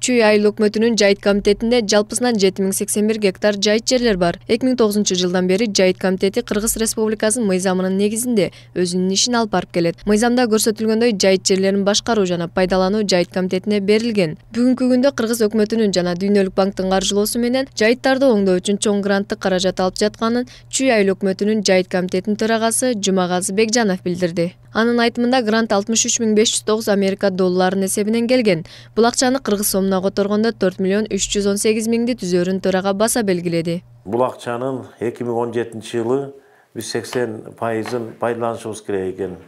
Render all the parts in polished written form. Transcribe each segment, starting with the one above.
Чүй айыл өкмөтүнүн жайыт комитетинде жалпысынан 7081 гектар жайыт жерлер бар. 2009-жылдан бери жайыт комитети Кыргыз Республикасынын мыйзамынын негизинде өзүнүн ишин алып барып келет. Мыйзамда көрсөтүлгөндөй жайыт жерлерин башкаруу жана пайдалануу жайыт комитетине берилген. Бүгүнкү күндө Кыргыз өкмөтүнүн жана Дүйнөлүк банктын каржылоосу менен жайыттарды оңдоо үчүн чоң гранттык каражат алып жатканын Чүй айыл өкмөтүнүн жайыт комитетинин төрагасы Жумагазы Бекжанов билдирди. Анын айтымында грант 63.509 Америка долларынын эсебинен келген. Бул акчаны кыргыз сомуна которгондо 4.318.000 түзөрүн төрага баса белгиледи. Бул акчанын 2017-жылы биз 80%-ын пайдаланышыбыз керек экен.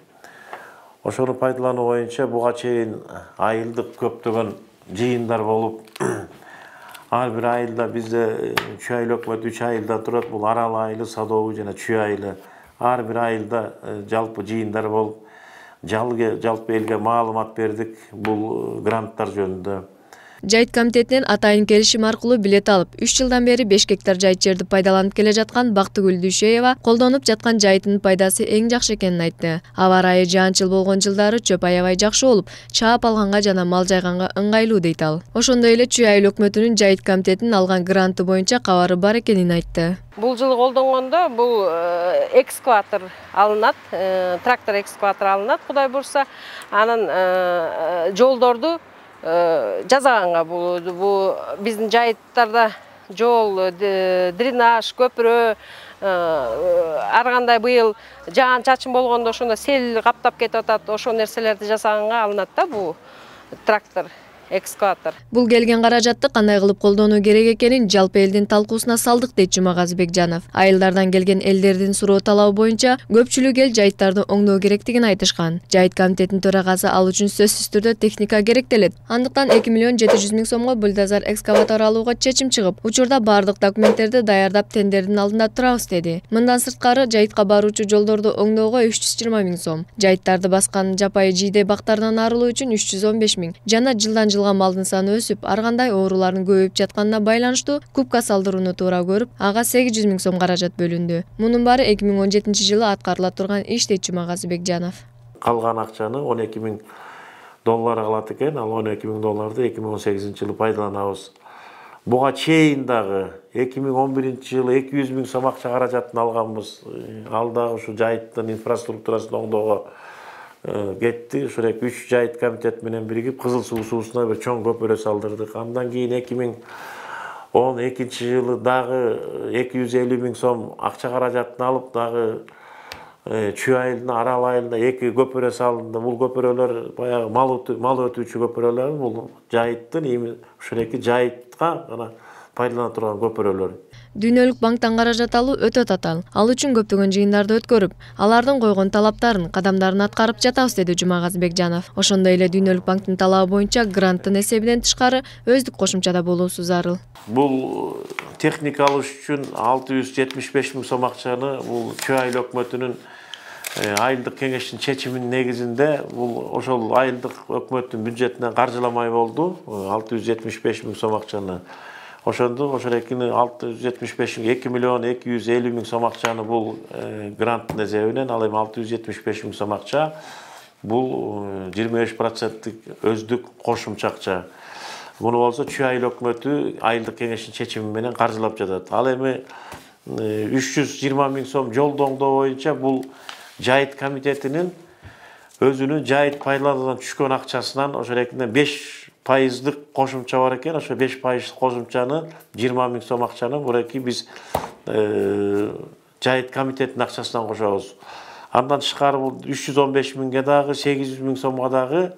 Ошону пайдалануу боюнча буга чейин айылдык көптөгөн жыйындар болуп, ар бир айылда бизде Чүй айыл өкмөтү 3 айылдан турат. Бул Арал айылы, Садовый жана Чүй айылы. Ар бир айылда жалпы жыйындар болуп, жалпы элге маалымат бердик бул гранттар жөнүндө. Жайыт комитетинен атайын келишим аркылуу билет алып, 3 жылдан бери 5 гектар жайыт жерди пайдаланып келе жаткан Бактыгүл Дүйшөева колдонуп жаткан жайытынын пайдасы эң жакшы экенин айтты. Аба ырайы жаанчыл болгон жылдары чөп аябай жакшы болуп, чаап алганга жана мал жайганга ыңгайлуу дейт ал. Ошондой эле Чүй айыл өкмөтүнүн жайыт комитетинин алган гранты боюнча кабары бар экенин айтты. Бул жылы колдонгондо бул экскаватор алынат, трактор экскаватор алынат, Кудай бурса, анын жолдорду жазаганга болду. Бул биздин жайыттарда жол, дренаж, көпүрө, ар кандай быйыл жаан-чачын болгондо ошондо сел каптап кетип атат. Ошол нерселерди жасаганга алынат да бул трактор экскаватор. Бул келген каражатты кандай кылып колдонуу керек экенин жалпы элдин талкуусуна салдык дейт Жумагазы Бекжанов. Айылдардан келген элдердин суроо талабы боюнча көпчүлүк эл жайыттарды оңдоо керектигин айтышкан. Жайыт комитетинин төрагасы ал үчүн сөзсүз түрдө техника керектелет. Андыктан 2.700.000 сомго бульдозер экскаватор алууга чечим чыгып, учурда бардык документтерди даярдап тендердин алдында турабыз деди. Мындан сырткары жайытка баруучу жолдорду оңдоого 320.000 сом, жайыттарды баскан жапайы жийде бактардан арылуу үчүн 315.000 жана жылдан жылга малдын саны өсүп, ар кандай оорулардын көбөйүп жатканына байланыштуу кубка салдырууну туура көрүп, ага 800.000 сом каражат бөлүндү. Мунун баары 2017-жылы аткарыла турган иш дейт Жумагазы Бекжанов. Калган акчаны 12.000 доллар калат экен, ал 12.000 долларды 2018-жылы пайдаланабыз. Буга чейин дагы 2011-жылы 200.000 сом акча каражатын алганбыз. Ал дагы ушу жайыттын инфраструктурасын оңдоого кетти. Ушул 3 жайыт комитет менен биригип Кызыл Суу суусуна бир чоң көпүрө салдырдык. Андан кийин 2012-жылы дагы 250.000 сом акча каражатын алып, дагы Чүй айылына, Арал айылына 2 көпүрө салынды. Бул көпүрөлөр баягы мал өтүүчү көпүрөлөр. Бул жайыттын ушул 2 жайытка гана пайдалана турган көпүрөлөр. Дүйнөлүк банктан каражат алуу өтө татаал. Ал үчүн көптөгөн жыйындарды өткөрүп, алардын койгон талаптарын, кадамдарын аткарып жатабыз деди Жумагазы Бекжанов. Ошондой эле Дүйнөлүк банктын талабы боюнча гранттын эсебинен тышкары өздүк кошумчада болуусу зарыл. Бул техника алыш үчүн 675.000 сом акчаны бул Чүй айыл өкмөтүнүн айылдык кеңештин чечиминин негизинде бул ошол айылдык өкмөттүн бюджетинен каржыламай болду. 675.000 сом акчаны ошондо 675 2.250.000 сом акчаны бул гранттын эсебинен, ал эми 675.000 сом акча бул 25% өздүк кошумча акча. Муну болсо Чүй айыл өкмөтү айылдык кеңештин чечими менен каржылап жатат. Ал эми 320.000 сом жолду оңдоо боюнча бул жайыт комитетинин өзүнүн жайыт пайдалануудан түшкөн акчасынан ошол 5% кошумча бар экен. Ошо 5% кошумчаны 20.000 сом акчаны буреки биз жайыт комитеттин акчасынан кошобуз. Андан тышкары бул 315.000ге дагы 800.000 сомго дагы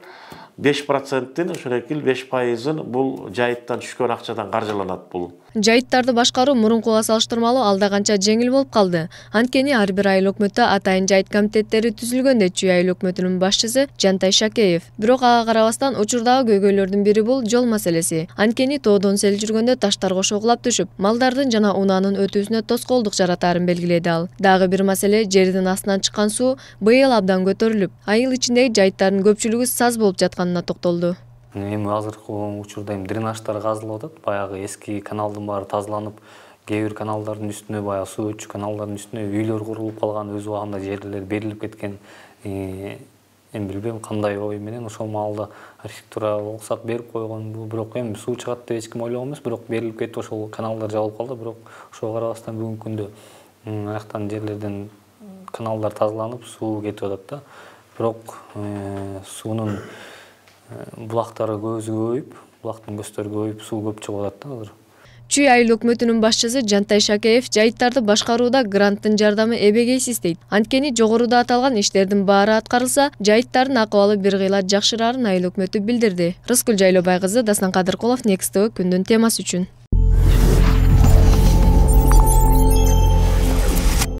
5%-тин ошол 5%-ын бул жайыттан түшкөн акчадан каржыланат бул. Жайыттарды башкаруу мурункуга салыштырмалуу алда канча жеңил болуп калды. Анткени ар бир айыл өкмөттө атайын жайыт комитеттери түзүлгөн дейт Чүй айыл өкмөтүнүн башчысы Жантай Шакеев. Бирок ага карабастан учурдагы көйгөйлөрдүн бири бул жол маселеси. Анткени тоодон сел жүргөндө таштар кошо кулап түшүп, малдардын жана унаанын өтүүсүнө тоскоолдук жаратаарын белгиледи ал. Дагы бир маселе жердин астынан чыккан суу быйыл абдан көтөрүлүп, айыл ичиндеги жайыттардын көпчүлүгү саз болуп жатканына токтолду. Эми азыркы учурда дренаждар казылып атат. Баягы эски каналдын баары тазаланып, кээ бир каналдардын үстүнө, баягы суу өтчү каналдардын үстүнө үйлөр курулуп калган, өз убагында жерлер берилип кеткен. Эми билбейм кандай ой менен ошол маалда архитектура уруксат берип койгонбу, бирок эми суу чыгат деп эч ким ойлогон эмес, бирок берилип кетип ошол каналдар жабылып калды, бирок ошого карабастан бүгүнкү күндө аяктан жерлерден каналдар тазаланып, суу кетип атат да. Бирок суунун булактары көбүсү көбөйүп, булактын көздөрү көбөйүп, суу көп чыгып атат да азыр. Чүй айыл өкмөтүнүн башчысы Жантай Шакеев жайыттарды башкарууда гранттын жардамы эбегейсиз дейт. Анткени жогоруда аталган иштердин баары аткарылса, жайыттардын акыбалы бир кыйла жакшырарын айыл өкмөтү билдирди. Рыскүл Жайлообай кызы, Дастан Кадыркулов, Next TV күндүн темасы үчүн.